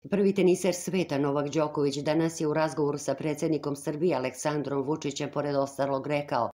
Prvi teniser sveta Novak Đoković danas je u razgovoru sa predsjednikom Srbije Aleksandrom Vučićem pored ostalog rekao: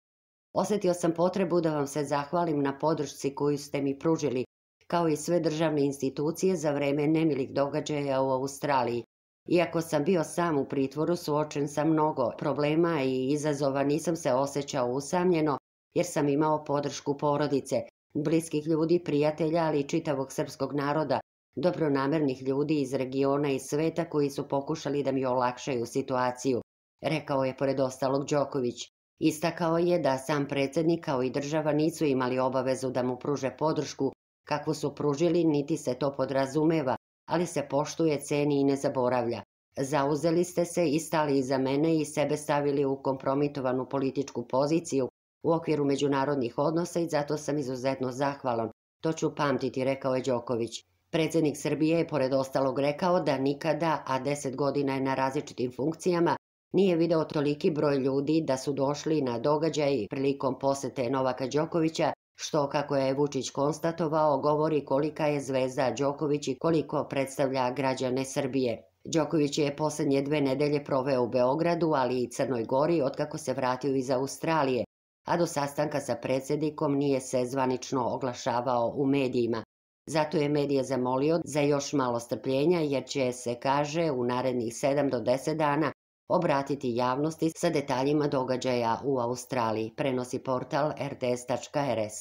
"Osjetio sam potrebu da vam se zahvalim na podršci koju ste mi pružili, kao i sve državne institucije za vreme nemilih događaja u Australiji. Iako sam bio sam u pritvoru, suočen sa mnogo problema i izazova, nisam se osjećao usamljeno jer sam imao podršku porodice, bliskih ljudi, prijatelja, ali i čitavog srpskog naroda, dobronamernih ljudi iz regiona i sveta koji su pokušali da mi olakšaju situaciju", rekao je pored ostalog Đoković. Istakao je da sam predsjednik kao i država nisu imali obavezu da mu pruže podršku kakvu su pružili, niti se to podrazumeva, ali se poštuje, ceni i ne zaboravlja. "Zauzeli ste se i stali iza mene i sebe stavili u kompromitovanu političku poziciju u okviru međunarodnih odnosa i zato sam izuzetno zahvalan. To ću pamtiti", rekao je Đoković. Predsjednik Srbije je pored ostalog rekao da nikada, a 10 godina je na različitim funkcijama, nije video toliki broj ljudi da su došli na događaj prilikom posete Novaka Đokovića, što, kako je Vučić konstatovao, govori kolika je zvezda Đoković i koliko predstavlja građane Srbije. Đoković je posljednje 2 nedelje proveo u Beogradu, ali i Crnoj Gori otkako se vratio iz Australije, a do sastanka sa predsjednikom nije se zvanično oglašavao u medijima. Zato je medije zamolio za još malo strpljenja jer će se, kaže, u narednih 7 do 10 dana obratiti javnosti sa detaljima događaja u Australiji, prenosi portal rts.rs.